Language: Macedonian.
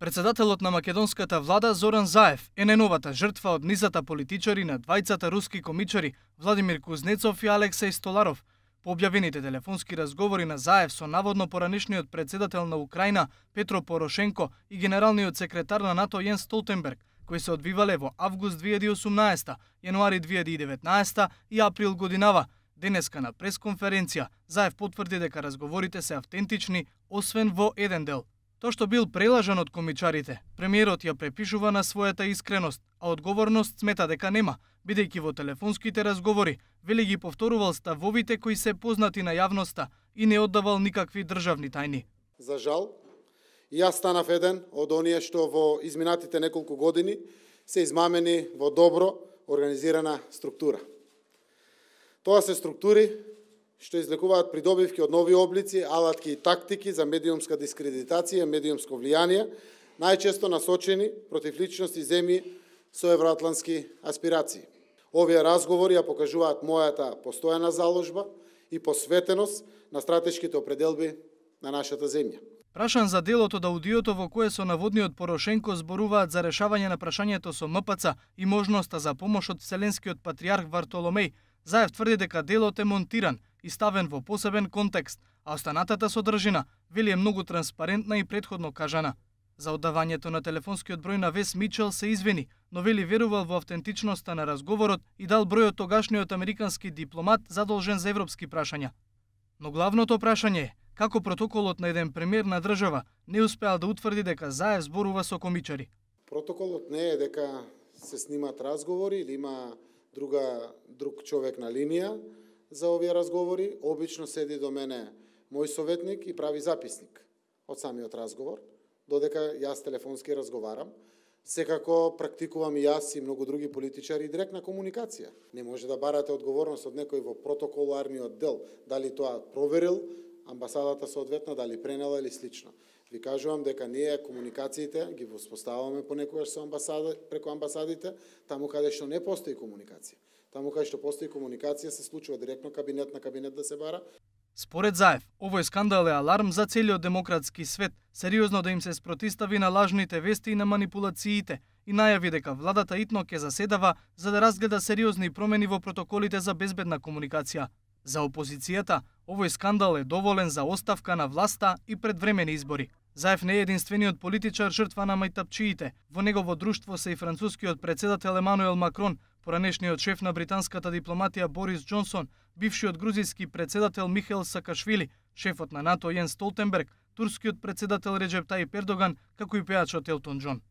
Председателот на македонската влада Зоран Заев е најновата жртва од низата политичари на двајцата руски комичари Владимир Кузнецов и Алексеј Столаров. По објавените телефонски разговори на Заев со наводно поранешниот председател на Украина Петро Порошенко и генералниот секретар на НАТО Јенс Столтенберг, кои се одвивале во август 2018, јануари 2019 и април годинава, денеска на пресконференција Заев потврди дека разговорите се автентични, освен во еден дел. Тоа што бил прелажан од комичарите, премиерот ја препишува на својата искреност, а одговорност смета дека нема, бидејќи во телефонските разговори вели ги повторувал ставовите кои се познати на јавноста и не оддавал никакви државни тајни. За жал, и јас станав еден од оние што во изминатите неколку години се измамени во добро организирана структура. Тоа се структури што излекуваат придобивки од нови облици, алатки и тактики за медиумска дискредитација, медиумско влијание, најчесто насочени против личности земји со евроатлантски аспирации. Овие разговори ја покажуваат мојата постојана заложба и посветеност на стратешките определби на нашата земја. Прашан за делото од аудиото во кое со наводниот Порошенко зборуваат за решавање на прашањето со МПЦ и можноста за помош од Вселенскиот патриарх Вартоломеј, Заев тврди дека делот е монтиран и ставен во посебен контекст, а останатата содржина вели е многу транспарентна и претходно кажана. За оддавањето на телефонскиот број на Вес Мичел се извини, но вели верувал во автентичноста на разговорот и дал бројот тогашниот американски дипломат задолжен за европски прашања. Но главното прашање е како протоколот на еден премиер на држава не успеал да утврди дека Заев зборува со комичари. Протоколот не е дека се снимат разговори или има друг човек на линија за овие разговори. Обично седи до мене мој советник и прави записник од самиот разговор, додека јас телефонски разговарам. Секако практикувам и јас и многу други политичари директна комуникација. Не може да барате одговорност од некој во протоколарниот дел, дали тоа проверил амбасадата соодветно, дали пренела или слично. Ви кажувам дека ние комуникациите ги воспоставаме понекогаш со преку амбасадите, таму каде што не постои комуникација. Таму каде што постои комуникација се случува директно кабинет на кабинет да се бара. Според Заев, овој скандал е аларм за целиот демократски свет, сериозно да им се спротистави на лажните вести и на манипулациите и најави дека владата итно ќе заседава за да разгледа сериозни промени во протоколите за безбедна комуникација. За опозицијата, овој скандал е доволен за оставка на власта и предвремени избори. Заев не е единствениот политичар жртва на мајтапчиите. Во негово друштво се и францускиот председател Емануел Макрон, поранешниот шеф на британската дипломатија Борис Џонсон, бившиот грузиски председател Михаил Сакашвили, шефот на НАТО Јенс Столтенберг, турскиот председател Реџеп Тајип Ердоган, како и пејачот Елтон Џон.